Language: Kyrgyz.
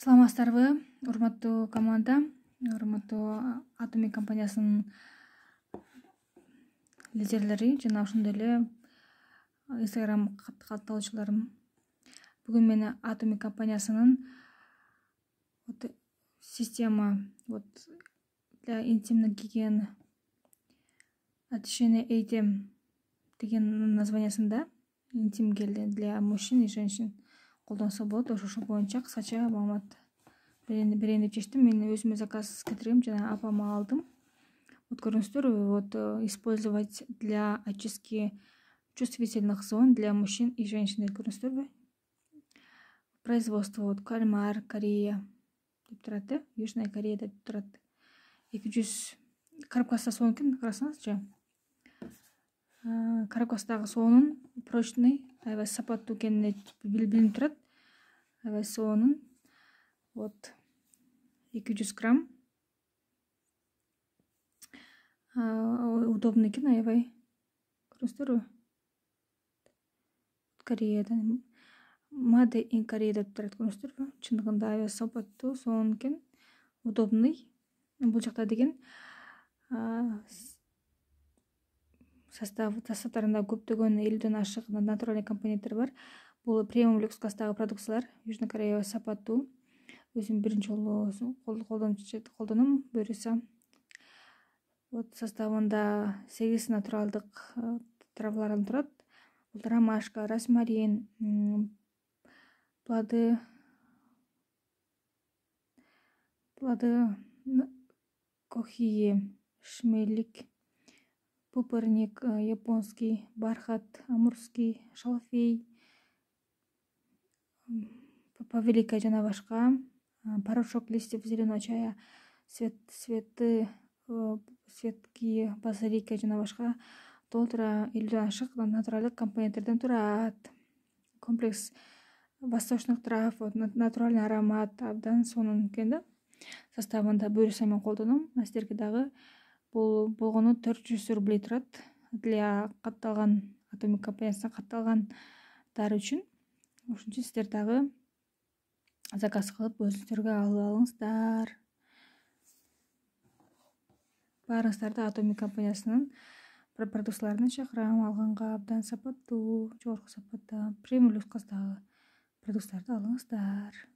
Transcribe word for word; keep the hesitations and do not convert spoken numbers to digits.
Саламатсыздарбы, урматтуу команда, урматтуу Atomic компаниясынын лидерлери жана ошондой эле Instagram катталуучуларым. Бүгүн мен Atomic компаниясынын вот система вот для интимной гигиены очищение эйтем деген названиясында интим гель для мужчин и женщин колдонсо болот. Ошол боюнча кыскача маалымат берейин деп чечтим. Мен өзүмө заказ кетиргем жана апама алдым. Вот көрүңүздөр, вот использовать для очистки чувствительных зон для мужчин и женщин деп көрүңүздөрбү. Производство вот Кальмар, Корея деп турат да, Южная Корея деп турат. эки жүз коробкасы сонун экен, карасаңызчы. Коробкасындагы соонун прочный, аябай сапаттуу экени билинип турат. Аябай соонун вот эки жүз грамм. Удобный экен, аябай. Көрүңүздөрбү? Кореядан Made in Korea деп турат, көрүңүздөрбү? Чындыгында аябай сапаттуу, сонун экен, удобный. Бул жакта деген состав составдарында көптөгөн элүүдөн ашык натуральный компоненттер бар. Бул премиум люкс класстагы продукциялар. Южный Корея сапаттуу. Өзүм биринчи жолу колдоном буюрса. Вот составында сегиз натуралдык травалардан турат. Бул ромашка, розмарин, плоды, плоды кохии, шмелик, пупырник, японский, бархат, амурский, шалфей, павелика жана башка, порошок листьев зеленого чая, цвет, цветы, цветки, базилика жана башка толтура элүүдөн ашык натуралдык компоненттерден турат. Комплекс восточных трав, натуральный аромат, абдан сонун экен да. Составында буюрса мен колдоном. Сиздерге дагы бул болгону төрт жүз рублей турат. Для катталган Atomic компаниясына катталгандар үчүн. Ошон үчүн сиздер дагы заказ кылып өзүңүздөргө алып алыңыздар. Баарыңыздарды Atomic компаниясынын продукцияларын чакырам алганга. Абдан сапаттуу, жогорку сапатта, премиум люкс класстагы продукцияларды алыңыздар.